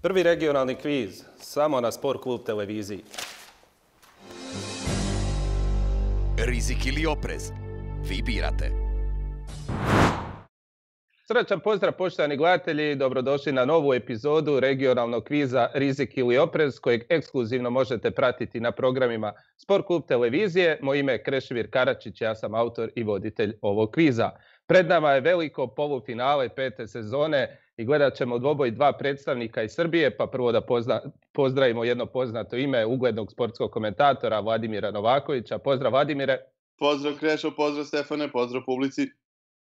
Prvi regionalni kviz, samo na Sport klub televiziji. Rizik ili oprez? Vi birate. Srećan pozdrav poštovani gledatelji, dobrodošli na novu epizodu regionalnog kviza Rizik ili oprez kojeg ekskluzivno možete pratiti na programima Sport klub televizije. Moje ime je Krešimir Karačić, ja sam autor i voditelj ovog kviza. Pred nama je veliko polufinale 5. sezone i gledat ćemo dvoboj dva predstavnika iz Srbije, pa prvo da pozdravimo jedno poznato ime uglednog sportskog komentatora Vladimira Novakovića. Pozdrav Vladimire. Pozdrav Krešo, pozdrav Stefane, pozdrav publici.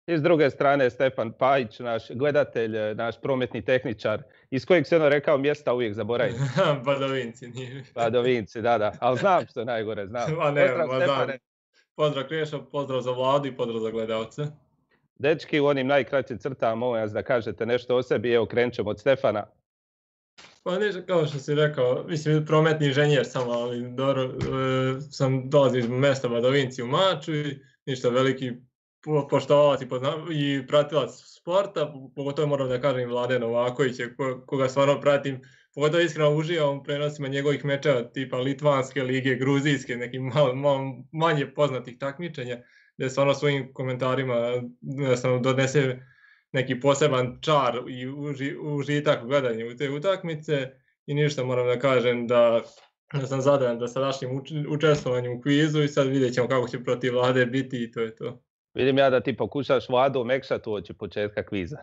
I s druge strane Stefan Pajić, naš gledatelj, naš prometni tehničar, iz kojeg se rekao mjesta uvijek zaboravim. Badovinci nije. Badovinci, da. Ali znam što je najgore, znam. Pozdrav Stefane. Pozdrav Krešo, pozdrav za Vladu i pozdrav za gledalce. Dečki, u onim najkraćim crtama, molim vas da kažete nešto o sebi. Evo, krenut ćemo od Stefana. Pa ništa, kao što si rekao, mislim, prometni inženjer sam, ali dobro, dolazim iz mesta Badovinci u Maču i ništa, veliki poštovalac i pratilac sporta, pogotovo moram da kažem Vlade Novakovića, koga stvarno pratim, pogotovo iskreno uživam u prenosima njegovih mečeva tipa Litvanske lige, Gruzijske, nekih malo manje poznatih takmičenja, gdje stvarno svojim komentarima donese neki poseban čar i užitak u gledanju te utakmice i ništa moram da kažem da sam zadovoljan da sadašnjim učestvovanjem u kvizu i sad vidjet ćemo kako će protiv Vlade biti i to je to. Vidim ja da ti pokušaš Vladu omekšati uoči početka kviza.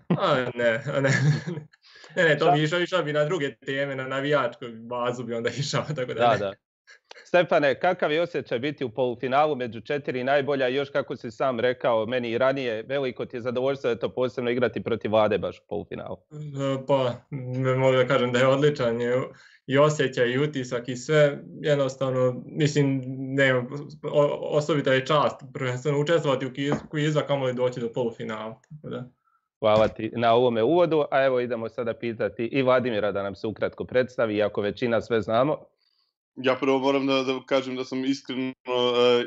Ne, to bi išao bi na druge teme, na navijačku bazu bi onda išao, tako da ne. Da. Stefane, kakav je osjećaj biti u polufinalu među 4 najbolja i još kako si sam rekao meni i ranije, veliko ti je zadovoljstvo da je to posebno igrati protiv Vlade baš u polufinalu? Pa, mogu da kažem da je odličan i osjećaj i utisak i sve, jednostavno, mislim, osobita je čast, prvenstveno učestvovati u kvizu, a kamoli doći do polufinala. Hvala ti na ovome uvodu, a evo idemo sada pitati i Vladimira da nam se ukratko predstavi, iako većina sve znamo. Ja prvo moram da kažem da sam iskreno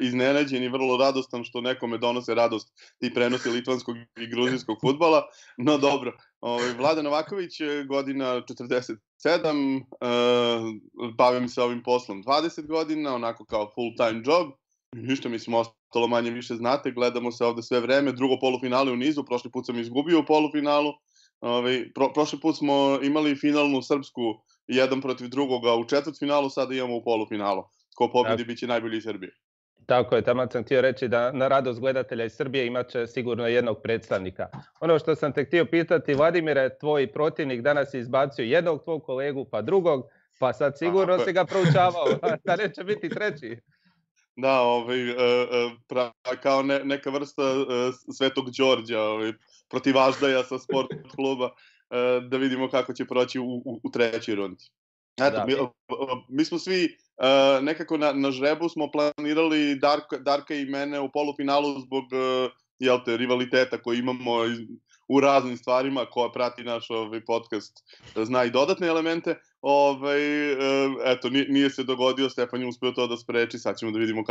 iznenađen i vrlo radostan što nekome donose radost ti prenosi litvanskog i gruzijskog fudbala. No dobro, Vlada Novaković, godina 47, bavim se ovim poslom 20 godina, onako kao full time job. Ništa, mislim, ostalo manje više znate, gledamo se ovde sve vreme, drugo polufinale u nizu, prošli put sam izgubio u polufinalu. Prošli put smo imali finalnu srpsku jedan protiv drugoga u četvrtfinalu, sada imamo u polufinalu. Ko pobedi biće najbolji iz Srbije. Tako je, tamo sam htio reći da na radost gledatelja iz Srbije imat će sigurno jednog predstavnika. Ono što sam te htio pitati, Vladimire, tvoj protivnik danas je izbacio jednog tvog kolegu pa drugog, pa sad sigurno si ga proučavao, da neće biti treći. Da, kao neka vrsta Svetog Đorđa, protiv Aždaja sa sport kluba, da vidimo kako će proći u trećoj rundi. Eto, mi smo svi nekako na žrebu smo planirali Darka i mene u polufinalu zbog rivaliteta koji imamo u raznim stvarima. Ko prati naš podcast zna i dodatne elemente. Eto, nije se dogodio, Stefan je uspio to da spreči, sad ćemo da vidimo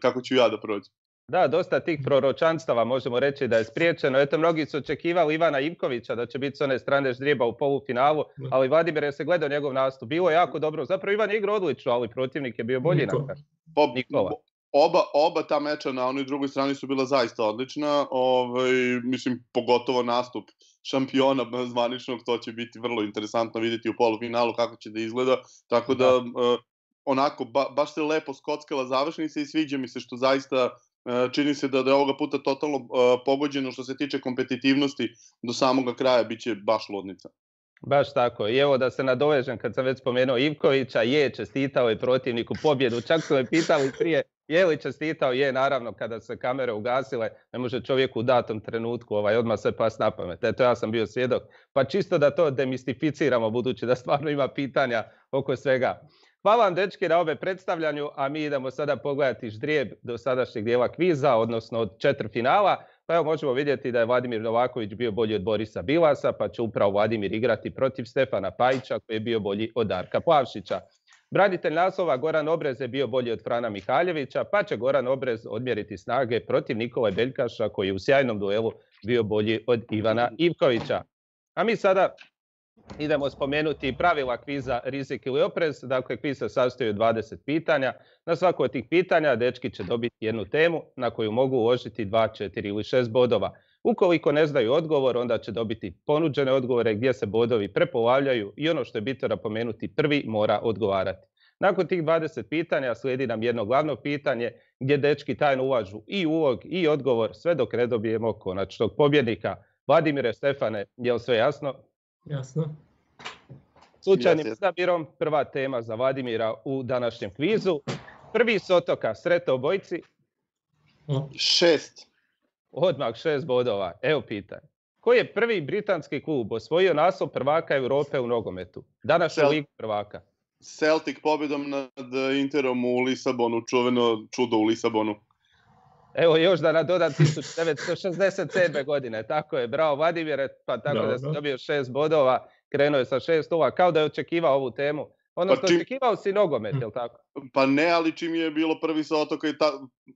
kako ću ja da prođem. Da, dosta tih proročanstava možemo reći da je spriječeno. Eto, mnogi su očekivali Ivana Ivkovića da će biti s one strane ždrijeba u polufinalu, ali Vladimir je se gledao njegov nastup. Bilo je jako dobro. Zapravo Ivan je igrao odlično, ali protivnik je bio bolji Nikola. Oba ta meča na onoj drugoj strani su bila zaista odlična. Mislim, pogotovo nastup šampiona zvaničnog, to će biti vrlo interesantno vidjeti u polufinalu kako će da izgleda. Tako da, onako, baš se lepo skockala završnica i sviđa mi se što zaista čini se da je ovoga puta totalno pogođeno što se tiče kompetitivnosti do samoga kraja, bit će baš ludnica. Baš tako. I evo da se nadovežem kad sam već spomenuo Ivkovića, čestitao je protivniku pobjedu. Čak su me pitali prije, je li čestitao? Je, naravno, kada se kamere ugasile, ne može čovjek u datom trenutku odmah sve pas na pamet. Eto, ja sam bio svjedok. Pa čisto da to demistificiramo, budući da stvarno ima pitanja oko svega. Hvala vam, dečki, na ove predstavljanju, a mi idemo sada pogledati ždrijeb do sadašnjeg dijela kviza, odnosno od četvrtfinala. Pa evo možemo vidjeti da je Vladimir Novaković bio bolji od Borisa Bilasa, pa će upravo Vladimir igrati protiv Stefana Pajića koji je bio bolji od Darka Plavšića. Branitelj naslova Goran Obrez je bio bolji od Frana Mihaljevića, pa će Goran Obrez odmjeriti snage protiv Nikole Beljkaša koji je u sjajnom duelu bio bolji od Ivana Ivkovića. A mi sada idemo spomenuti pravila kviza Rizik ili oprez. Dakle, kviz se sastoji od 20 pitanja. Na svako od tih pitanja dečki će dobiti jednu temu na koju mogu uložiti 2, 4 ili 6 bodova. Ukoliko ne znaju odgovor, onda će dobiti ponuđene odgovore gdje se bodovi prepolavljaju i ono što je bitno napomenuti, prvi mora odgovarati. Nakon tih 20 pitanja slijedi nam jedno glavno pitanje gdje dečki tajno ulažu i ulog i odgovor sve dok ne dobijemo konačnog pobjednika. Vladimire, Stefane, je li sve jasno? Jasno. Slučajnim odabirom prva tema za Vladimira u današnjem kvizu. Prvi s otoka, sretno obojici. 6. Odmah 6 bodova. Evo pitanje. Koji je prvi britanski klub osvojio naslov prvaka Europe u nogometu? Današnju ligu prvaka. Celtic pobjedom nad Interom u Lisabonu, čuveno čudo u Lisabonu. Evo još da nadodam 1967. godine. Tako je, bravo Vladimire, pa tako da si dobio 6 bodova. Krenuo je sa 6-0, kao da je očekivao ovu temu. Odnosno, očekivao si nogomet, je li tako? Pa ne, ali čim je bilo prvi sa otoka,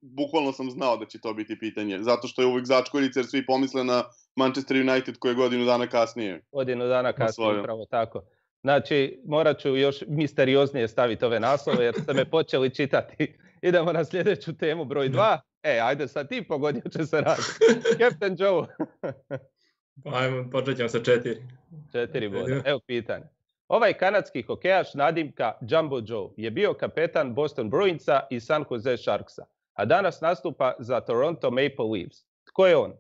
bukvalno sam znao da će to biti pitanje. Zato što je uvijek začkoljica, jer svi pomisle na Manchester United koji je godinu dana kasnije. Godinu dana kasnije, upravo tako. Znači, morat ću još misterioznije staviti ove naslove, jer ste me počeli čitati. Idemo na sljedeću temu, broj 2. Ajde sad ti pogodio će se raditi. Captain Joe. Ajmo, počet ćemo sa 4. 4 boda. Evo pitanje. Ovaj kanadski hokejaš nadimka Jumbo Joe je bio kapetan Boston Bruinsa i San Jose Sharksa, a danas nastupa za Toronto Maple Leafs. Tko je on?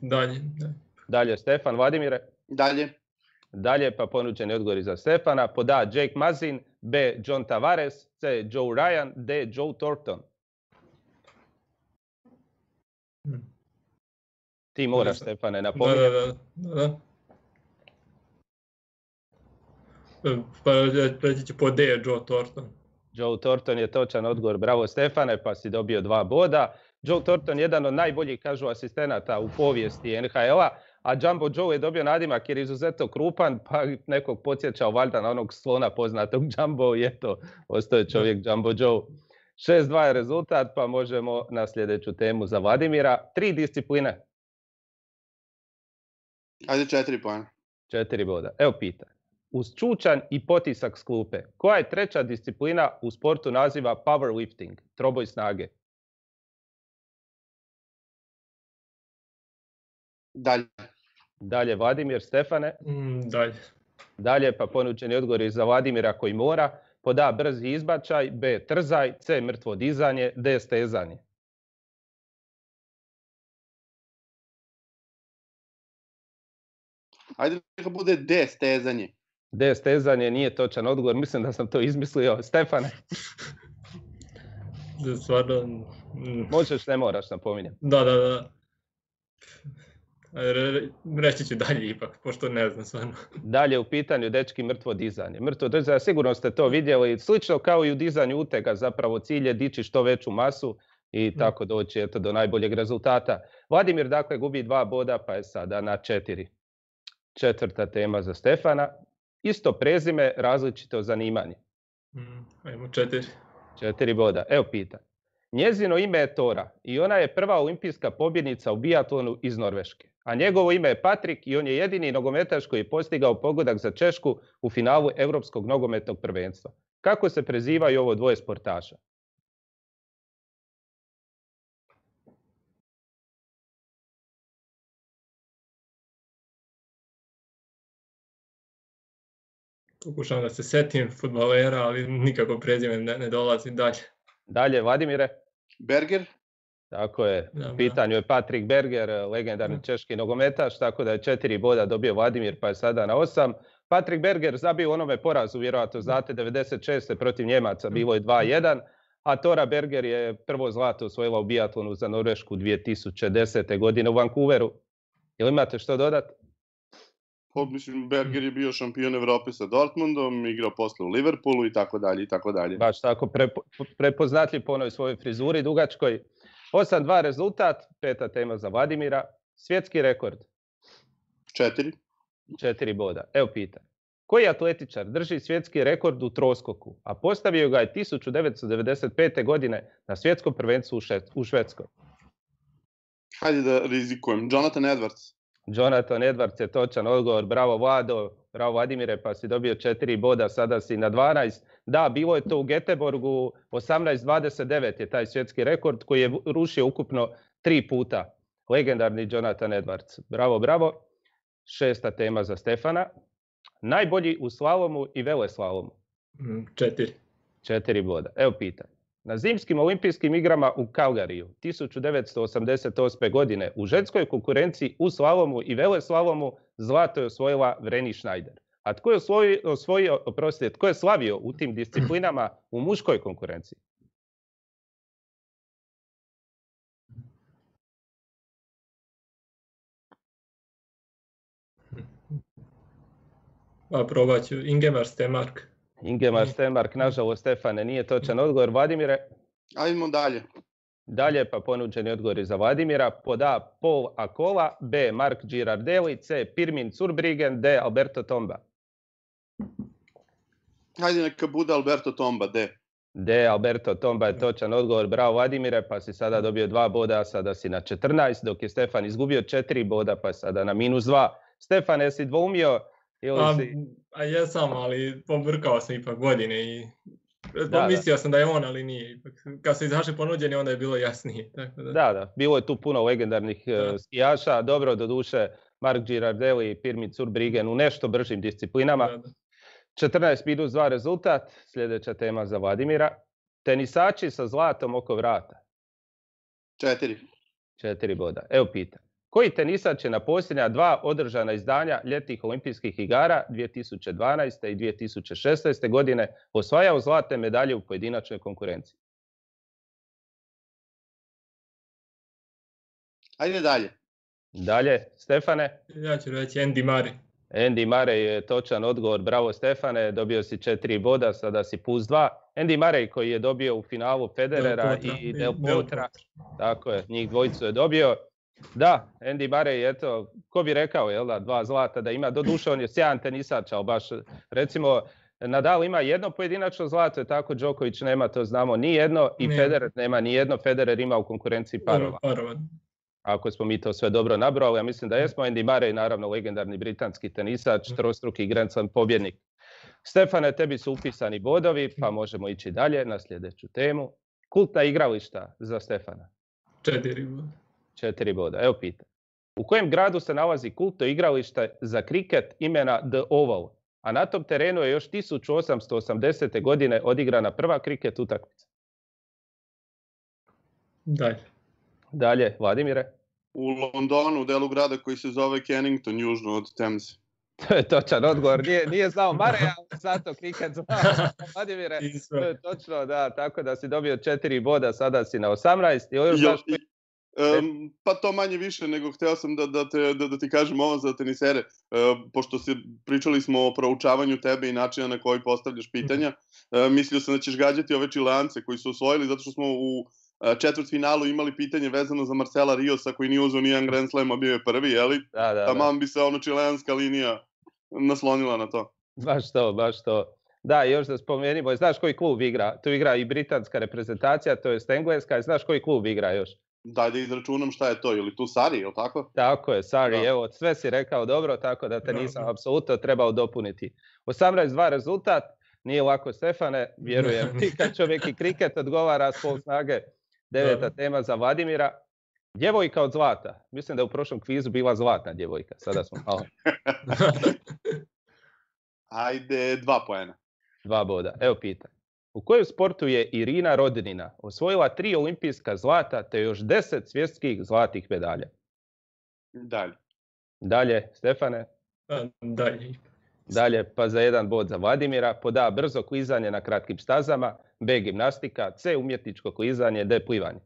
Dalje. Dalje, Stefan. Vladimire? Dalje, pa ponuđeni odgovori za Stefana. Pod A, Jake Muzzin, B, John Tavares, C, Joe Ryan, D, Joe Thornton. Ti moraš, Stefane, napominjati. Da. Pa reći ću po D, Joe Thornton. Joe Thornton je točan odgovor. Bravo, Stefane, pa si dobio 2 boda. Joe Thornton je jedan od najboljih, kažu, asistenata u povijesti NHL-a, a Jumbo Joe je dobio nadimak jer je izuzetno krupan, pa nekog podsjećao valjda na onog slona poznatog Jumbo i eto, ostao je čovjek Jumbo Joe. 6-2 je rezultat, pa možemo na sljedeću temu za Vladimira. 3 discipline. Ajde 4 pojena. 4 boda. Evo pitanje. Uz čučanj i potisak s klupe, koja je treća disciplina u sportu naziva powerlifting, troboj snage? Dalje, Vladimir. Stefane? Dalje, pa ponuđeni odgovori za Vladimira koji mora. Pod A, brzi izbačaj, B, trzaj, C, mrtvo dizanje, D, stezanje. Ajde neka bude D, stezanje. D, stezanje nije točan odgovor, mislim da sam to izmislio. Stefane? Stvarno... Možeš, ne moraš, napominjem. Da. Reći ću dalje ipak, pošto ne znam stvarno. Dalje u pitanju, dečki, mrtvo dizanje. Mrtvo dizanje, sigurno ste to vidjeli, slično kao i u dizanju utega, zapravo cilj je dići što veću masu i tako doći do najboljeg rezultata. Vladimir, dakle, gubi 2 boda, pa je sada na 4. 4. tema za Stefana. Isto prezime, različito zanimanje. Ajmo 4. 4 boda. Evo pitanje. Njezino ime je Tora i ona je prva olimpijska pobjednica u biatlonu iz Norveške. A njegovo ime je Patrik i on je jedini nogometaš koji je postigao pogodak za Češku u finalu Europskog nogometnog prvenstva. Kako se prezivaju ovo dvoje sportaša? Pokušavam da se setim fudbalera, ali nikako prezime ne dolazi. Dalje, Vladimire? Berger? Tako je, u pitanju je Patrik Berger, legendarni češki nogometaš, tako da je 4 boda dobio Vladimir, pa je sada na 8. Patrik Berger zabio onome porazu, vjerojatno znate, 96. protiv Njemaca, bilo je 2-1, a Tora Berger je prvo zlato osvojila u biatlonu za Norvešku 2010. godine u Vancouveru. Jel imate što dodati? Mislim, Berger je bio šampion Evrope sa Dortmundom, igrao posle u Liverpoolu i tako dalje i tako dalje. Baš tako, prepoznatljiv po onoj svojoj frizuri dugačkoj. 8-2 rezultat, 5. tema za Vladimira. Svjetski rekord? 4. 4 boda. Evo pitanje. Koji atletičar drži svjetski rekord u troskoku, a postavio ga je 1995. godine na svjetskom prvenstvu u Švedskoj? Hajde da rizikujem. Jonathan Edwards. Jonathan Edwards je točan odgovor. Bravo Vlado, bravo Vladimire, pa si dobio 4 boda, sada si na 12. Da, bilo je to u Göteborgu, 18-29 je taj svjetski rekord koji je rušio ukupno 3 puta. Legendarni Jonathan Edwards. Bravo, bravo. 6. tema za Stefana. Najbolji u slalomu i veleslalomu. 4. 4 boda. Evo pitanje. Na zimskim olimpijskim igrama u Calgaryju 1988. godine u ženskoj konkurenciji u slalomu i veleslalomu zlato je osvojila Vreni Schneider. A tko je slavio u tim disciplinama u muškoj konkurenciji? Probat ću. Ingemar Stenmark. Ingemar Stenmark, nažalost, Stefane, nije točan odgovor. Vladimire? Ajmo dalje. Dalje, pa ponuđeni odgovori za Vladimira. Pod A. Paul Akola, B. Mark Girardelli, C. Pirmin Zurbriggen, D. Alberto Tomba. Hajde neka bude Alberto Tomba, D. D. Alberto Tomba je točan odgovor. Bravo Vladimire, pa si sada dobio 2 boda, sada si na 14, dok je Stefan izgubio 4 boda, pa sada na -2. Stefan, jesi dvoumio? Jesam, ali pobrkao sam ipak godine i mislio sam da je on, ali nije. Ipak. Kad su izašli ponuđeni, onda je bilo jasnije. Tako da. Da, bilo je tu puno legendarnih skijaša. Dobro, doduše, Mark Girardelli i Pirmin Zurbriggen u nešto bržim disciplinama. Da. 14-2 rezultat. Sljedeća tema za Vladimira. Tenisači sa zlatom oko vrata. 4. 4 boda. Evo pitanje. Koji tenisač je na posljednja 2 održana izdanja ljetnih olimpijskih igara 2012. i 2016. godine osvajao zlatne medalje u pojedinačnoj konkurenciji? Ajde dalje. Dalje, Stefane? Ja ću reći Andy Murray. Andy Murray je točan odgovor. Bravo Stefane, dobio si 4 boda, sada si +2. Andy Murray koji je dobio u finalu Federera i Del Potra. Tako je, njih dvojicu je dobio. Da, Andy Murray, eto, ko bi rekao, 2 zlata da ima, doduše on je sjajan tenisač, ali baš, recimo, Nadal ima jedno pojedinačno zlato, tako Djokovic nema, to znamo, ni jedno, i Federer nema ni jedno, Federer ima u konkurenciji parova. Ako smo mi to sve dobro nabrali, ja mislim da jesmo. Andy Murray, naravno, legendarni britanski tenisač, trostruki Grand Slam pobjednik. Stefane, tebi su upisani bodovi, pa možemo ići dalje na sljedeću temu. Kultna igrališta za Stefana. 4 boda. 4 boda. Evo pitanje. U kojem gradu se nalazi kultno igralište za kriket imena The Oval, a na tom terenu je još 1880. godine odigrana prva kriket utakmica? Dalje, Vladimire? U Londonu, u delu grada koji se zove Kennington, južno od Temze. To je točan odgovor. Nije znao Mare, ali zato kriket znao. Vladimire, to je točno, da, tako da si dobio 4 boda, sada si na 18. Pa to manje više, nego hteo sam da ti kažem ovo za tenisere, pošto pričali smo o proučavanju tebe i načina na koji postavljaš pitanja. Mislio sam da ćeš gađati ove Čilance koji su osvojili, zato što smo u četvrtfinalu imali pitanje vezano za Marcela Riosa koji nije uzeo nijedan Grand Slam, a bio je prvi, jeli? Da. Taman bi se čileanska linija naslonila na to. Baš to. Da, još da spomenimo, znaš koji klub igra? Tu igra i britanska reprezentacija, to je engleska, znaš koji klub igra još? Daj da izračunam šta je to, ili tu Sari, ili tako? Tako je, Sari, evo, sve si rekao dobro, tako da te nisam apsolutno trebao dopuniti. 18-2 rezultat, nije lako Stefane, vjerujem, ti kad čovjek i kriket odgovara s pol snage. 9. tema za Vladimira. Djevojka od zlata. Mislim da je u prošlom kvizu bila zlatna djevojka, sada smo malo. Ajde, 2 poena. 2 boda, evo pitanje. U kojem sportu je Irina Rodnina osvojila 3 olimpijska zlata te još 10 svjetskih zlatih medalja? Dalje, Stefane? Dalje, pa za 1 bod za Vladimira. Pod A, brzo klizanje na kratkim stazama, B, gimnastika, C, umjetničko klizanje, D, plivanje.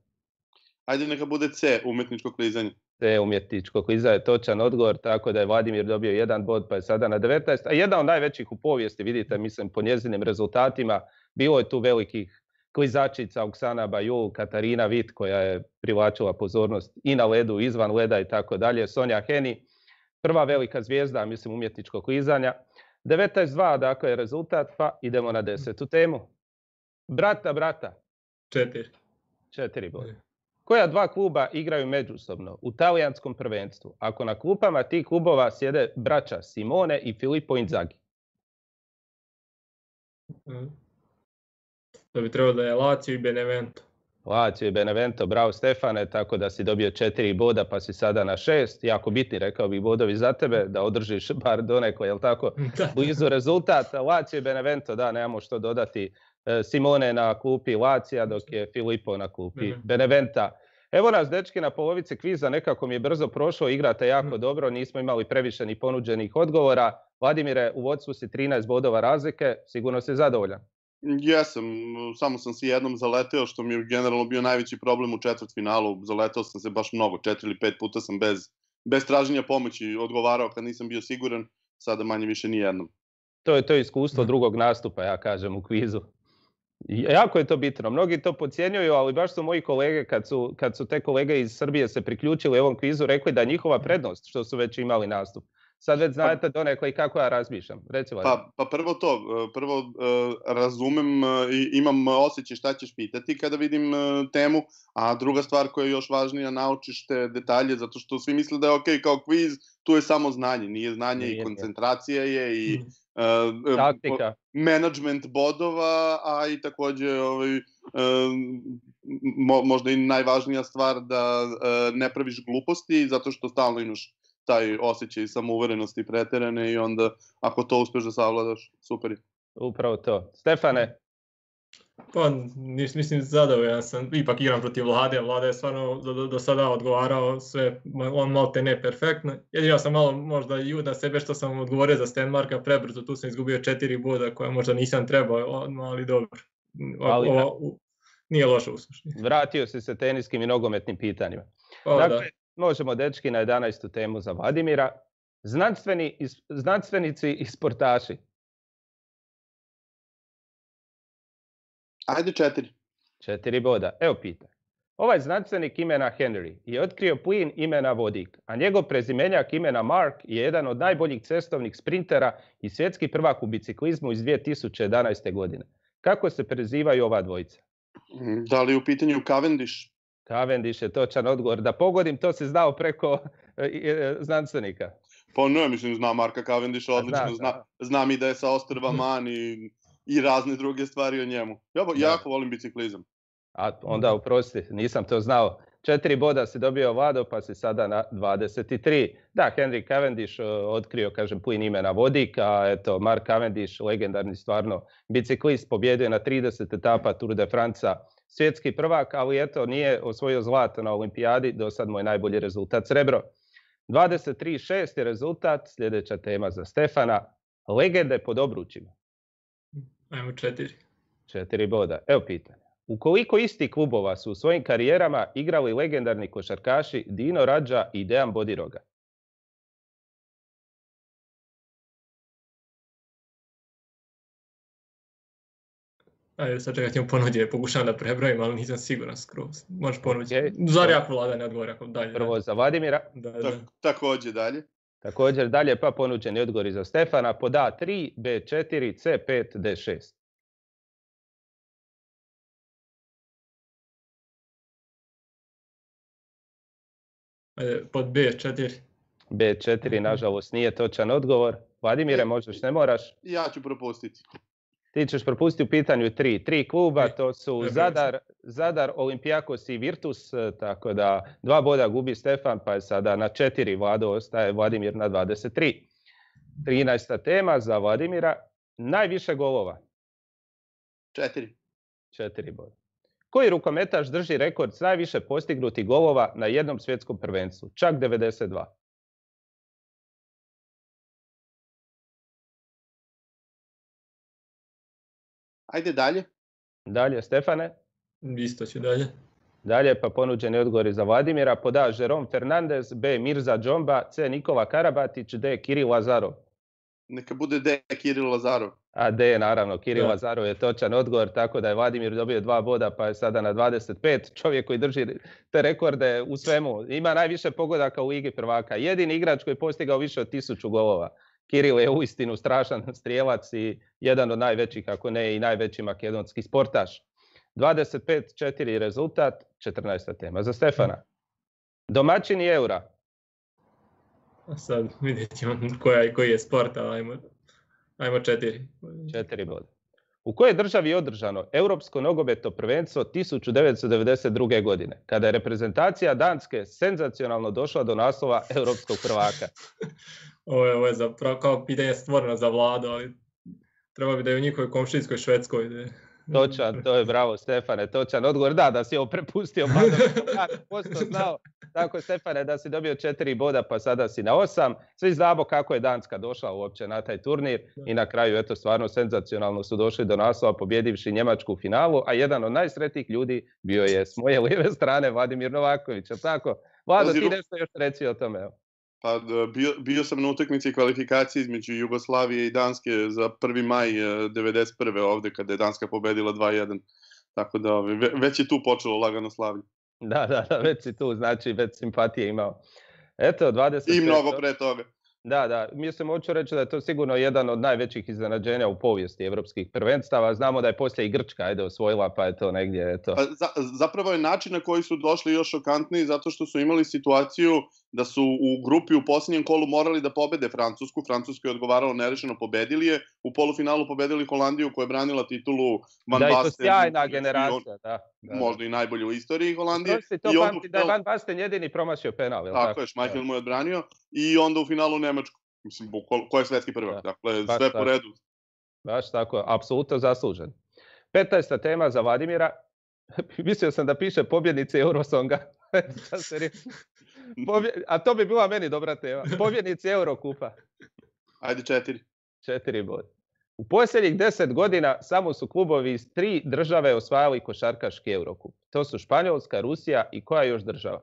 Ajde neka bude C, umjetničko klizanje. C, umjetničko klizanje je točan odgovor, tako da je Vladimir dobio 1 bod, pa je sada na 19. A jedna od najvećih u povijesti, vidite, mislim, po njezinim rezultatima, bilo je tu velikih klizačica, Oksana Bajul, Katarina Vit, koja je privlačila pozornost i na ledu, izvan leda i tako dalje, Sonja Heni, prva velika zvijezda, mislim, umjetničkog klizanja. 19-2, dakle, je rezultat, pa idemo na 10. temu. Brata. 4 boda. Koja dva kluba igraju međusobno u talijanskom prvenstvu, ako na klupama tih klubova sjede braća Simone i Filippo Inzaghi? To bi trebalo da je Lazio i Benevento. Lazio i Benevento, bravo Stefane, tako da si dobio 4 boda pa si sada na 6. Jako bitni, rekao bih, bodovi za tebe, da održiš bar donekle, jel tako, blizu rezultat. Lazio i Benevento, da, nemamo što dodati. Simone na klupi Lazija, dok je Filippo na klupi Beneventa. Evo nas, dečki, na polovici kviza, nekako mi je brzo prošlo, igrate jako dobro, nismo imali previše ni ponuđenih odgovora. Vladimire, u vodstvu si 13 bodova razlike, sigurno si zadovoljan. Jesam, samo sam se jednom zaleteo, što mi je generalno bio najveći problem u četvrtfinalu. Zaleteo sam se baš mnogo, 4 ili 5 puta sam bez traženja pomoći odgovarao kad nisam bio siguran, sada manje više ni jednom. To je to iskustvo drugog nastupa, ja kažem, u kvizu. Jako je to bitno. Mnogi to podcjenjuju, ali baš su moji kolege, kad su te kolege iz Srbije se priključili ovom kvizu, rekli da je njihova prednost što su već imali nastup. Sad već znate donekle i kako ja razmišljam. Pa prvo to, razumem i imam osjećaj šta ćeš pitati kada vidim temu, a druga stvar koja je još važnija, naučiš te detalje, zato što svi misle da je okej kao kviz, tu je samo znanje, nije znanje i koncentracija je i taktika, management bodova, a i takođe možda i najvažnija stvar da ne praviš gluposti, zato što stalno imaš taj osjećaj samouverenosti preterane i onda ako to uspeš da savladaš, super je. Upravo to. Stefane? Pa, mislim, zadovoljan sam. Ipak igram protiv Vlade. Vlada je stvarno do sada odgovarao sve, on malo te ne perfektno. Jedino sam malo možda i na sebe što sam odgovorio za Stenmarka prebrzo. Tu sam izgubio 4 boda koja možda nisam trebao, ali dobro. Nije loše u suštini. Vratio si se teniskim i nogometnim pitanjima. Dakle, možemo, dečki, na 11. temu za Vladimira. Znanstvenici i sportaši. Ajde 4. 4 boda. Evo pita. Ovaj znanstvenik imena Henry je otkrio plin imena vodik, a njegov prezimenjak imena Mark je jedan od najboljih cestovnih sprintera i svjetski prvak u biciklizmu iz 2011. godine. Kako se prezivaju ova dvojica? Da li je u pitanju Cavendish? Cavendish je točan odgovor. Da pogodim, to si znao preko znanstvenika. Pa ne, mislim, znam Marka Cavendisha odlično, znam i da je sa ostrva Man i razne druge stvari o njemu. Ja jako volim biciklizam. A onda oprosti, nisam to znao. 4 boda si dobio, Vlado, pa si sada na 23. Da, Henry Cavendish otkrio, kažem, plin imena vodik, a eto, Mark Cavendish, legendarni stvarno biciklist, pobjedio na 30 etapa Tour de France-a, svjetski prvak, ali eto, nije osvojio zlato na olimpijadi, do sad mu je najbolji rezultat srebro. 23-6 je rezultat, sljedeća tema za Stefana, legende pod obručima. Ajmo 4. 4 boda. Evo pitanje. U koliko istih klubova su u svojim karijerama igrali legendarni košarkaši Dino Radža i Dejan Bodiroga? Ajde, sad čekaj, ti mu ponuđe, pokušam da prebrojim, ali nisam siguran skroz. Možeš ponuđiti. Zar jako Vlada ne odgovori ako dalje. Prvo za Vladimira. Također dalje. Također dalje, pa ponuđeni odgovori za Stefana. Pod A3, B4, C5, D6. Ajde, pod B4. B4, nažalost, nije točan odgovor. Vladimire, možeš, ne moraš. Ja ću propustiti. Ti ćeš propustiti u pitanju 3 kluba, to su Zadar, Olympiakos i Virtus, tako da 2 boda gubi Stefan, pa je sada na 4, Vlado ostaje, Vladimir na 23. 13. tema za Vladimira, najviše golova. 4 boda. Koji rukometaš drži rekord s najviše postignutih golova na jednom svjetskom prvenstvu? Čak 92. Ajde dalje. Dalje, Stefane. Isto ću dalje. Dalje, pa ponuđeni odgovori za Vladimira. Pod A, Jerome Fernandez, B, Mirza Džomba, C, Nikola Karabatić, D, Kiril Lazarov. Neka bude D, Kiril Lazarov. A D, naravno, Kiril Lazarov je točan odgovor, tako da je Vladimir dobio 2 boda, pa je sada na 25. Čovjek koji drži te rekorde u svemu. Ima najviše pogodaka u Ligi prvaka. Jedini igrač koji je postigao više od 1000 golova. Kiril je uistinu strašan strijelac i jedan od najvećih, ako ne i najveći makedonski sportaš. 25-4 rezultat, 14. tema. Za Stefana. Domaćini Eura. A sad vidjet ćemo koji je sport, ali ajmo 4. 4 boda. U kojoj državi je održano Europsko nogometno prvenstvo 1992. godine, kada je reprezentacija Danske senzacionalno došla do naslova europskog prvaka? Ovo je zapravo kao pitanje stvoreno za Vladu, ali treba bi da je u njihovoj komšijskoj Švedskoj. Točan, to je bravo Stefane, točan odgovor. Da si ovo prepustio Vladu, posto znao. Tako Stefane, da si dobio 4 boda pa sada si na 8. Svi znamo kako je Danska došla uopće na taj turnir i na kraju eto stvarno senzacionalno su došli do naslova pobjedivši Njemačku u finalu, a jedan od najsretnijih ljudi bio je s moje lijeve strane Vladimir Novaković. Tako, Vlado, ti nešto još reci o tome. Evo. Pa bio sam na utakmici kvalifikacije između Jugoslavije i Danske za 1. maj 1991. ovdje kada je Danska pobedila 2-1. Tako da već je tu počelo lagano slavlje. Da, već si tu, znači već simpatije imao. Eto, 20. I mnogo pre toga. Da, mislim, hoću reći da je to sigurno jedan od najvećih iznenađenja u povijesti evropskih prvenstava. Znamo da je poslije i Grčka osvojila, pa je to negdje, eto. Zapravo je način na koji su došli još šokantniji, zato što su imali situaciju da su u grupi u posljednjem kolu morali da pobede Francusku. Francuska je odgovaralo nerešeno, pobedili je. U polufinalu pobedili Holandiju koja je branila titulu Van Basten. Da, i to sjajna generacija, da. Možda i najbolji u istoriji Holandije. To pamti da je Van Basten jedini promašio penal. Tako je, Schmeichel mu je odbranio. I onda u finalu Nemačku. Mislim, ko je svetski prvak. Dakle, sve po redu. Baš tako, apsolutno zaslužen. 15. tema za Vladimira. Mislio sam da piše pobjednici Eurosonga. A to bi bila meni dobra tema. Pobjednici Eurokupa. Ajde 4. 4 boda. U posljednjih 10 godina samo su klubovi iz 3 države osvajali košarkaški Eurokup. To su Španjolska, Rusija i koja još država?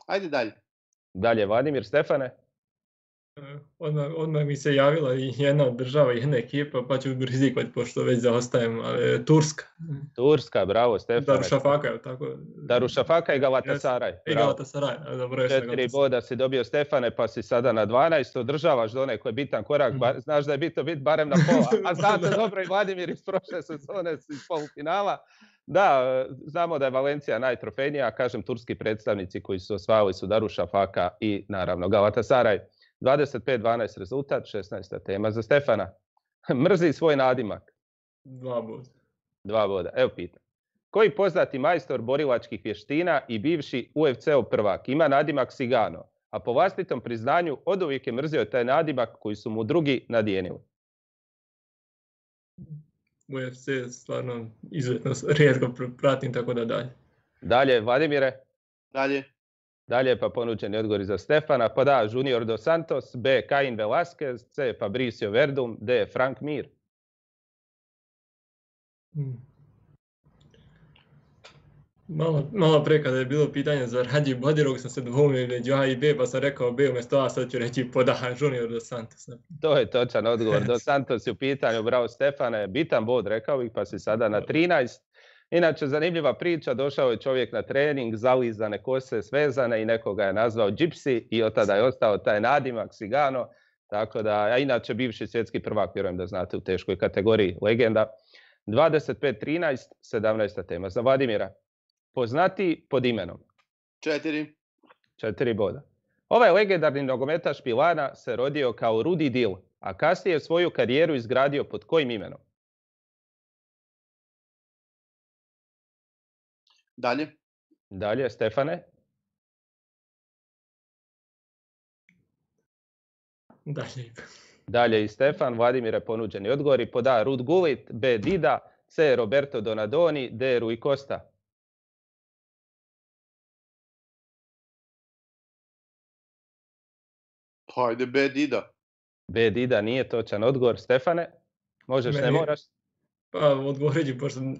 Ajde dalje. Dalje, Vladimir, Stefane? Odmah mi se javila i jedna država, jedna ekipa, pa ću rizikovati pošto već zaostajem, ali Turska. Turska, bravo, Stefane. Darušafaka, je tako? Darušafaka i Galatasaray. I Galatasaray, dobro. 4 boda si dobio, Stefane, pa si sada na 12. Održavaš do onaj koji je bitan korak, znaš da je bitno biti barem na pola. A znate dobro i Vladimir iz prošle sezone iz polufinala. Da, znamo da je Valencija najtrofejnija, kažem turski predstavnici koji su osvajali su Darušafaka i naravno Galatasaray. 25-12 rezultat, 16. tema za Stefana. Mrzi svoj nadimak. 2 boda. 2 boda, evo pitam. Koji poznati majstor borilačkih vještina i bivši UFC-ov prvak ima nadimak Cigano, a po vlastitom priznanju oduvijek je mrzio taj nadimak koji su mu drugi nadijenili? UFC stvarno izuzetno rijetko pratim, tako da dalje. Dalje, Vladimire? Dalje, pa ponuđeni odgovori za Stefana. Pa da, Junior dos Santos, B. Cain Velasquez, C. Fabricio Verdum, D. Frank Mir. Malo pre kada je bilo pitanje za Radji Badirog sam se dvoumio među A i B, pa sam rekao B umjesto A, sad ću reći pod A, Junior dos Santos. To je točan odgovor. Dos Santos je u pitanju, bravo Stefane, bitan bod, rekao bih, pa si sada na 13. Inače, zanimljiva priča, došao je čovjek na trening, zalizane kose, svezane i nekoga je nazvao Gypsy i od tada je ostao taj nadimak Cigano. Tako da, a inače bivši svjetski prvak, vjerujem da znate, u teškoj kategoriji, legenda. 25-13, 17. tema za Vladimira. Poznati pod imenom? 4 boda. Ovaj legendarni nogometaš Milana se rodio kao Rudi Dil, a kasnije je svoju karijeru izgradio pod kojim imenom? Dalje, Stefane? Dalje i Stefan, Vladimire ponuđeni odgovori. Pod A. Ruud Gullit, B. Dida, C. Roberto Donadoni, D. Rui Costa. Pa ajde B. Dida. B. Dida nije točan odgovor. Stefane? Možeš, ne moraš? Pa odgovorit ću,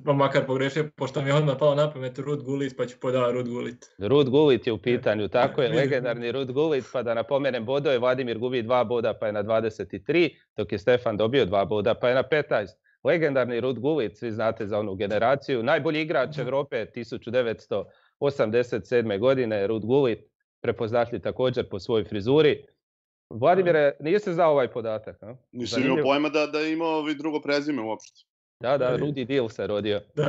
pa makar pogrešio, pošto mi je odmah pao na pamet Ruud Gullit, pa ću podao Ruud Gullit. Ruud Gullit je u pitanju, tako je, legendarni Ruud Gullit, pa da napomenem bodove, Vladimir gubi 2 boda pa je na 23, dok je Stefan dobio 2 boda pa je na 15. Legendarni Ruud Gullit, svi znate za onu generaciju, najbolji igrač Europe 1987. godine, Ruud Gullit, prepoznatljiv također po svojoj frizuri. Vladimire, nisi znao ovaj podatak? A? Nisam imao pojma da je imao drugo prezime uopšte. Da, Rudy Deal se rodio. Da,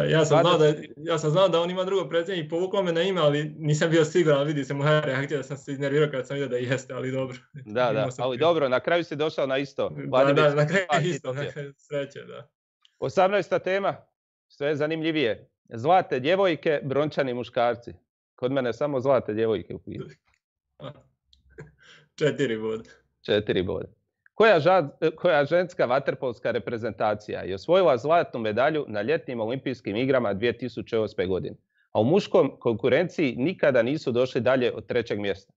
ja sam znao da on ima drugo prezime i povuklo me na ime, ali nisam bio siguran, ali vidi se moja reakcija da sam se iznervirao kad sam vidio da jeste, ali dobro. Da, ali dobro, na kraju si došao na isto. Da, na kraju isto, sreće, da. 18. tema, što je zanimljivije. Zlate djevojke, brončani muškarci. Kod mene samo zlate djevojke u pitanju. 4 boda. 4 boda. Koja ženska vaterpolska reprezentacija je osvojila zlatnu medalju na ljetnim olimpijskim igrama 2008. godine, a u muškom konkurenciji nikada nisu došli dalje od 3. mjesta?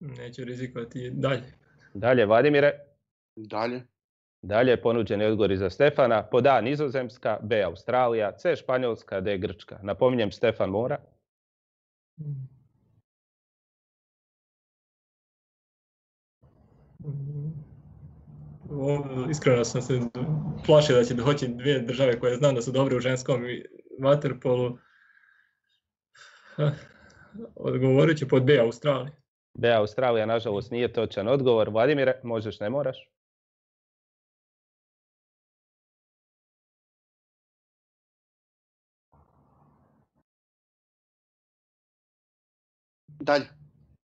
Neću rizikovati dalje. Dalje, Vladimire. Dalje je ponuđeni odgovori za Stefana. Pod A Nizozemska, B Australija, C Španjolska, D Grčka. Napominjem, Stefan mora. Iskreno sam se plašio da će doći 2 države koje znam da su dobre u ženskom vaterpolu. Odgovorit ću pod B Australija. B Australija, nažalost, nije točan odgovor. Vladimire, možeš, ne moraš.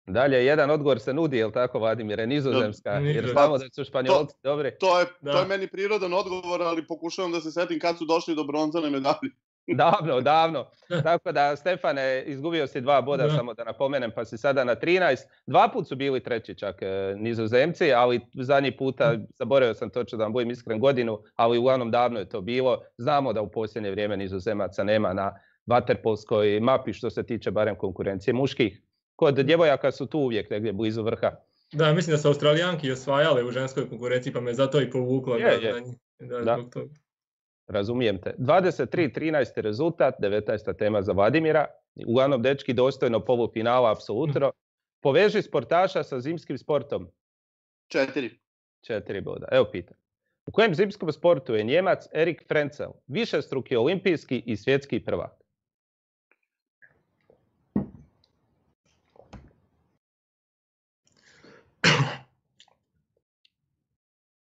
Dalje, jedan odgovor se nudi, jel tako, Vladimire? Nizozemska, jer znamo da su Španjolci dobri. To je meni prirodan odgovor, ali pokušavam da se setim kad su došli do bronzane medalje. Davno. Tako da, Stefane, izgubio si 2 boda, samo da napomenem, pa si sada na 13. 2 put su bili treći čak Nizozemci, ali zadnji puta, zaboravio sam točno da vam budem iskren godinu, ali uglavnom davno je to bilo. Znamo da u posljednje vrijeme Nizozemaca nema na vaterpolskoj mapi što se tiče barem konkurencije muških. Kod djevojaka su tu uvijek negdje blizu vrha. Da, mislim da su Australijanki osvajale u ženskoj konkurenciji, pa me zato i povuklo. Da. Razumijem te. 23-13 rezultat, 19. tema za Vladimira. Uglavnom, dečki, dostojno polufinala, apsolutno. Poveži sportaša sa zimskim sportom. 4 boda. Evo pitanje. U kojem zimskom sportu je Njemac Erik Frenzel, višestruki olimpijski i svjetski prvak?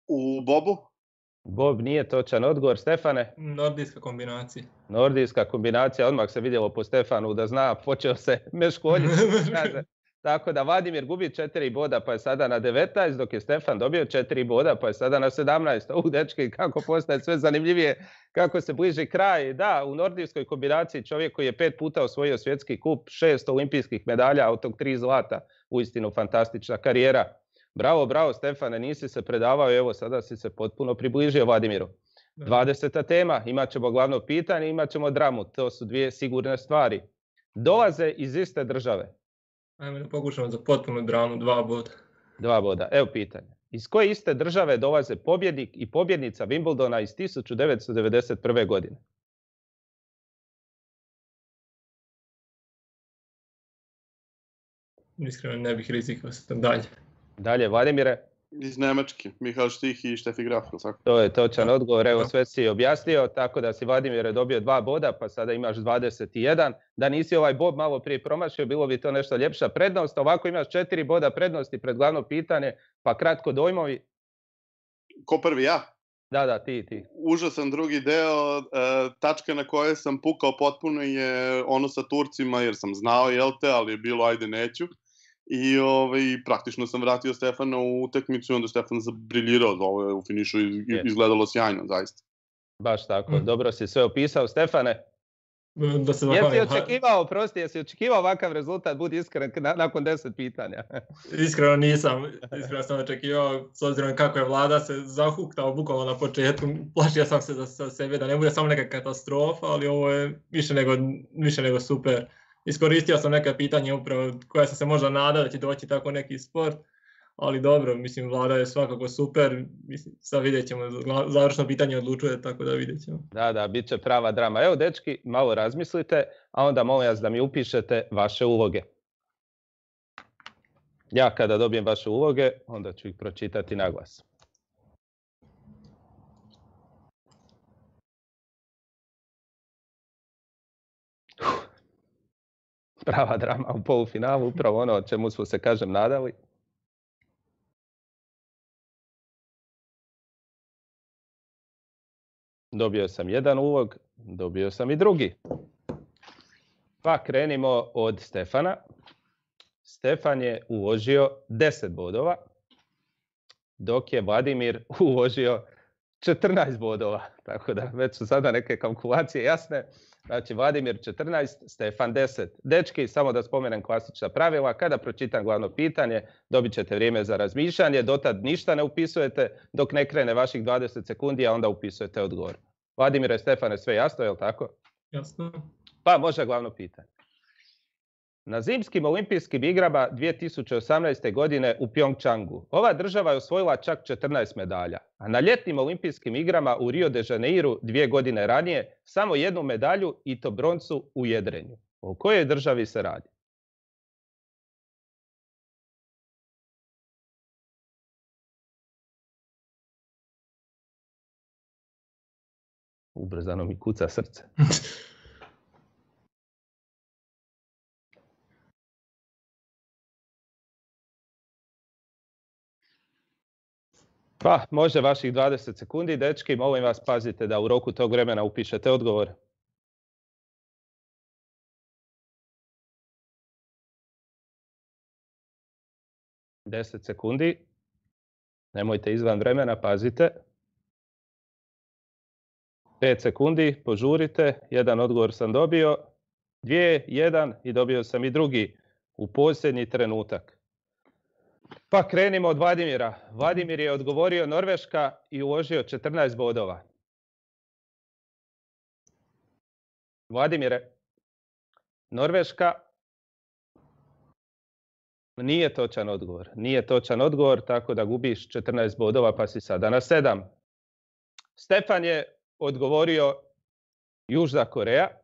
U bobu? Bob nije točan odgovor. Stefane? Nordijska kombinacija, odmah se vidjelo po Stefanu da zna, počeo se meškoljiti. Tako da Vladimir gubi 4 boda pa je sada na 19, dok je Stefan dobio 4 boda pa je sada na 17. Dečki, kako postaje sve zanimljivije, kako se bliži kraj. Da, u nordijskoj kombinaciji čovjek koji je 5 puta osvojio svjetski kup, 6 olimpijskih medalja, od tog 3 zlata. Uistinu fantastična karijera. Bravo, Stefane, nisi se predavao, evo sada si se potpuno približio Vladimiru. 20. tema, imat ćemo glavno pitanje, imat ćemo dramu, to su 2 sigurne stvari. Dolaze iz iste države. Ajmo da pokušamo za potpunu dramu, 2 boda. 2 boda, evo pitanje. Iz koje iste države dolaze pobjednik i pobjednica Wimbledona iz 1991. godine? Iskreno ne bih rizikovao sam Dalje, Vladimire? Iz Njemačke, Mihael Štih i Štefi Graf. To je točan odgovor, evo sve si objasnio, tako da si Vladimire dobio 2 boda, pa sada imaš 21. Da nisi ovaj bod malo prije promašio, bilo bi to nešto ljepša prednost, ovako imaš 4 boda prednosti pred glavno pitanje, pa kratko dojmovi. Ko prvi, ja? Da, ti. Užasan drugi deo, tačka na kojoj sam pukao potpuno je ono sa Turcima, jer sam znao, ali je bilo ajde neću. I praktično sam vratio Stefana u utakmicu i onda Stefan zabriljirao, u finišu izgledalo sjajno, zaista. Baš tako, dobro si sve opisao. Stefane, jesi očekivao ovakav rezultat, budi iskren, nakon 10 pitanja? Iskreno nisam, sam očekivao, s obzirom kako je Vlada se zahuktao bukvalno na početku, plašio sam se za sebe da ne bude samo neka katastrofa, ali ovo je više nego super. Iskoristio sam neka pitanja upravo koja sam se možda nadao da će doći tako neki sport, ali dobro, mislim, Vlada je svakako super, mislim, sad vidjet ćemo, završno pitanje odlučuje, tako da vidjet ćemo. Da, bit će prava drama. Evo, dečki, malo razmislite, a onda molim vas da mi upišete vaše uloge. Ja kada dobijem vaše uloge, onda ću ih pročitati na glas. Prava drama u polufinalu, upravo ono o čemu smo se, kažem, nadali. Dobio sam jedan ulog, dobio sam i drugi. Pa krenimo od Stefana. Stefan je uložio 10 bodova, dok je Vladimir uložio 14 bodova. Tako da već su sada neke kalkulacije jasne. Znači Vladimir 14, Stefan 10. Dečki, samo da spomenem klasična pravila. Kada pročitam glavno pitanje, dobit ćete vrijeme za razmišljanje. Dotad ništa ne upisujete dok ne krene vaših 20 sekundi, a onda upisujete odgovor. Vladimire, Stefane, sve jasno, je li tako? Jasno. Pa može glavno pitanje. Na zimskim olimpijskim igrama 2018. godine u Pjongčangu ova država je osvojila čak 14 medalja, a na ljetnim olimpijskim igrama u Rio de Janeiru 2 godine ranije samo jednu medalju i to broncu u jedrenju. O kojoj državi se radi? Ubrzano mi kuca srce. Pa, može vaših 20 sekundi, dečki, molim vas pazite da u roku tog vremena upišete odgovor. Deset sekundi. Nemojte izvan vremena, pazite. 5 sekundi, požurite. Jedan odgovor sam dobio. 2, 1 i dobio sam i drugi u posljednji trenutak. Pa krenimo od Vladimira. Vladimir je odgovorio Norveška i uložio 14 bodova. Vladimire, Norveška nije točan odgovor. Nije točan odgovor, tako da gubiš 14 bodova pa si sada na 7. Stefan je odgovorio Južna Koreja.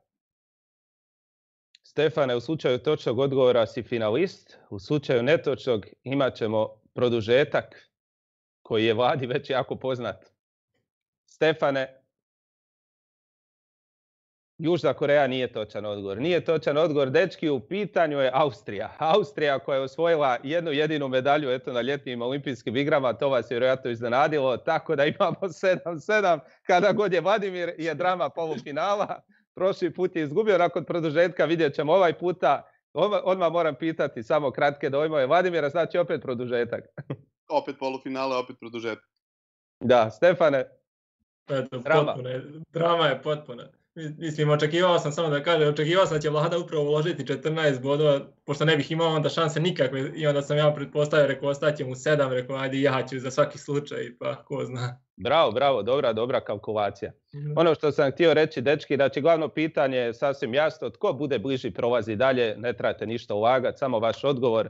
Stefane, u slučaju točnog odgovora si finalist, u slučaju netočnog imat ćemo produžetak koji je Vladi već jako poznat. Stefane, Južna Koreja nije točan odgovor. Nije točan odgovor, dečki, u pitanju je Austrija. Austrija koja je osvojila jednu jedinu medalju na ljetnim olimpijskim igrama, to vas je vjerojatno iznenadilo, tako da imamo 7-7, kada god je Vladimir je drama polufinala. Prošli put je izgubio nakon produžetka, vidjet ćemo ovaj puta. Odmah moram pitati samo kratke dojmove. Vladimira, znači opet produžetak. Opet polufinale, opet produžetak. Da, Stefane. Drama je potpuna. Mislim, očekivao sam samo da kažem, očekivao sam da će Vlada upravo uložiti 14 bodova, pošto ne bih imao onda šanse nikakve, i onda sam ja pretpostavio, rekao, ostaće mu 7, rekao, ajde ja ću za svaki slučaj, pa ko zna. Bravo, dobra kalkulacija. Ono što sam htio reći, dečki, znači glavno pitanje je sasvim jasno, tko bude bliži prolazi dalje, ne trebate ništa ulagati, samo vaš odgovor.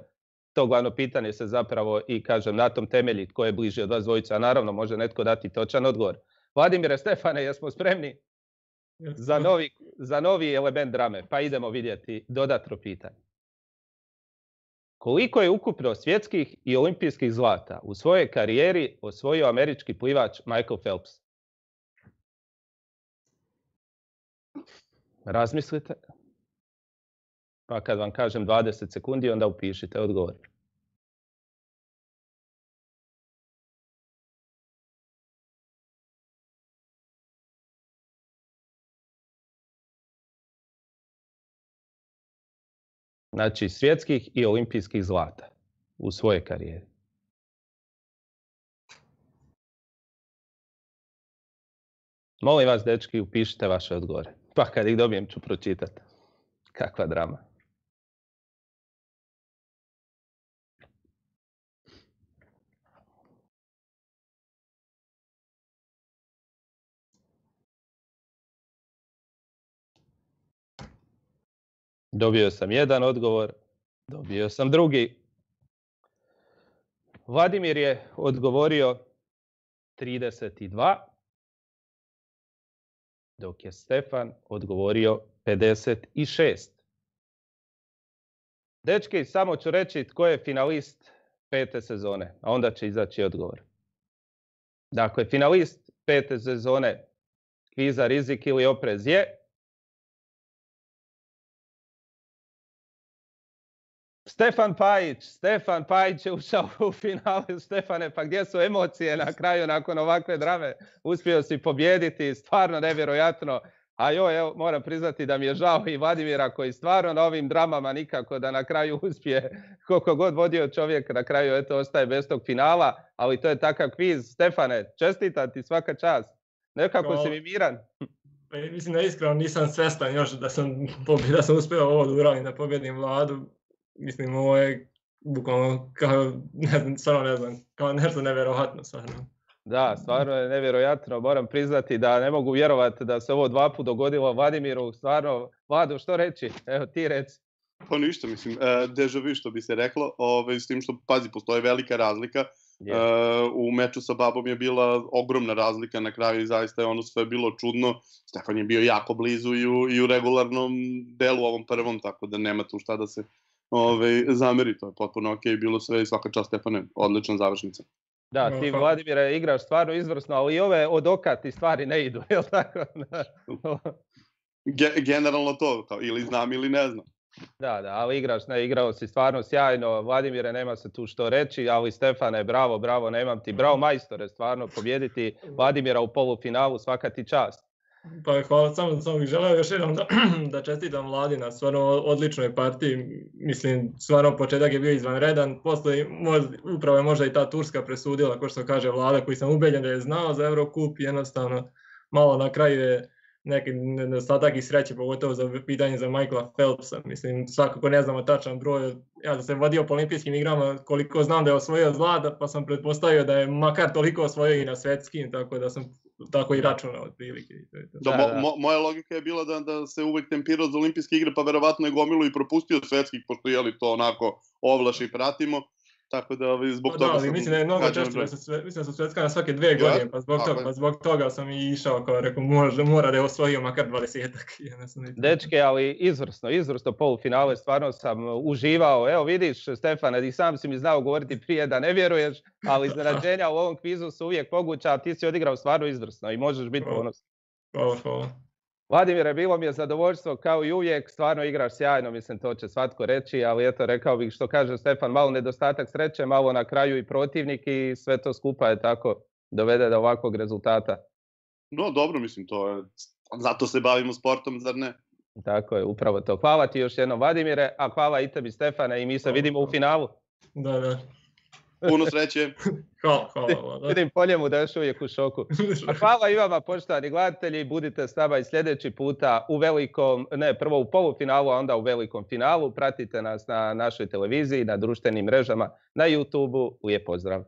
To glavno pitanje se zapravo i, kažem, na tom temelji tko je bliži od vas dvojica, a naravno može netko dati točan odgovor. Vladimire, Stefane, jesmo spremni za novi element drame? Pa idemo vidjeti dodatno pitanje. Koliko je ukupno svjetskih i olimpijskih zlata u svojoj karijeri osvojio američki plivač Michael Phelps? Razmislite. Pa kad vam kažem 20 sekundi, onda upišite odgovor. Znači svjetskih i olimpijskih zlata u svojoj karijeri. Molim vas, dečki, upišite vaše odgovore. Pa kad ih dobijem ću pročitati. Kakva drama. Dobio sam jedan odgovor, dobio sam drugi. Vladimir je odgovorio 32, dok je Stefan odgovorio 56. Dečki, samo ću reći tko je finalist 5. sezone, a onda će izaći odgovor. Dakle, finalist 5. sezone kviza Rizik ili oprez je Stefan Pajić. Stefan Pajić je ušao u finale. Stefane, pa gdje su emocije na kraju nakon ovakve drame? Uspio si pobijediti, stvarno nevjerojatno. A joj, evo, moram priznati da mi je žao i Vladimira koji stvarno na ovim dramama nikako da na kraju uspije. Koliko god vodio čovjek, na kraju eto ostaje bez tog finala, ali to je takav kviz. Stefane, čestitam ti, svaka čast. Nekako si mi miran. Mislim da iskreno nisam svjestan još da sam uspio ovo da uradim, da pobjedim Vladu. Mislim, ovo je bukvalno kao, ne znam, kao nešto nevjerojatno stvarno. Da, stvarno je nevjerojatno. Moram priznati da ne mogu vjerovati da se ovo 2 puta dogodilo Vladimiru. Stvarno, Vlado, što reći? Evo, ti reci. Pa ništa, mislim, déjà vu što bi se reklo, s tim što, pazi, postoje velika razlika. U meču sa Babom je bila ogromna razlika na kraju i zaista je ono sve bilo čudno. Stefan je bio jako blizu i u regularnom delu ovom prvom, tako da nema tu šta da se zameri. To je potpuno ok, bilo sve i svaka čast Stefane, odlična završnica. Da, ti Vladimire igraš stvarno izvrsno, ali i ove od oka ti stvari ne idu, jel tako? Generalno to, kao, ili znam ili ne znam. Da, ali igrao si stvarno sjajno. Vladimire, nema se tu što reći, ali Stefane, bravo, nemam ti. Bravo majstore, stvarno, pobjediti Vladimira u polufinalu, svaka ti čast. Pa hvala, samo bih želeo još jednom da čestitam Vladi na stvarno odličnoj partiji. Mislim, stvarno početak je bio izvanredan, poslije upravo je možda i ta Turska presudila, kao što kaže Vlada, koji sam ubeđen da je znao za Eurocup, jednostavno malo na kraju je neki nedostatak i sreće, pogotovo za pitanje za Michaela Phelpsa. Mislim, svakako ne znamo tačan broj. Ja sam se vodio po olimpijskim igrama, koliko znam da je osvojio zlata, pa sam pretpostavio da je makar toliko osvojio i na svjetskim, tako da sam tako i računao otprilike. Moja logika je bila da se uvek tempirao za olimpijske igre, pa verovatno je gomilu i propustio svetskih, pošto je li to onako ovlaš i pratimo. Tako da zbog toga sam... Mislim da je mnogo češće, mislim da su svetska na svake 2 godine, pa zbog toga sam i išao, kao rekao, mora da je osvojio makar 20-ak. Dečke, ali izvrsno polufinale, stvarno sam uživao. Evo vidiš, Stefane, i sam si mi znao govoriti prije da ne vjeruješ, ali iznenađenja u ovom kvizu su uvijek moguća, a ti si odigrao stvarno izvrsno i možeš biti ponosan. Hvala. Vladimire, bilo mi je zadovoljstvo kao i uvijek, stvarno igraš sjajno, mislim to će svatko reći, ali eto rekao bih što kaže Stefan, malo nedostatak sreće, malo na kraju i protivnik i sve to skupa je tako dovede do ovakvog rezultata. No dobro, mislim to je, zato se bavimo sportom, zar ne? Tako je, upravo to. Hvala ti još jednom Vladimire, a hvala i tebi Stefane i mi se vidimo u finalu. Da. Puno sreće. Hvala. Vidim po njemu da je još uvijek u šoku. A hvala i vama, poštovani gledatelji, budite s nama i sljedeći puta prvo u polufinalu, a onda u velikom finalu. Pratite nas na našoj televiziji, na društvenim mrežama, na YouTubeu. Lijep pozdrav.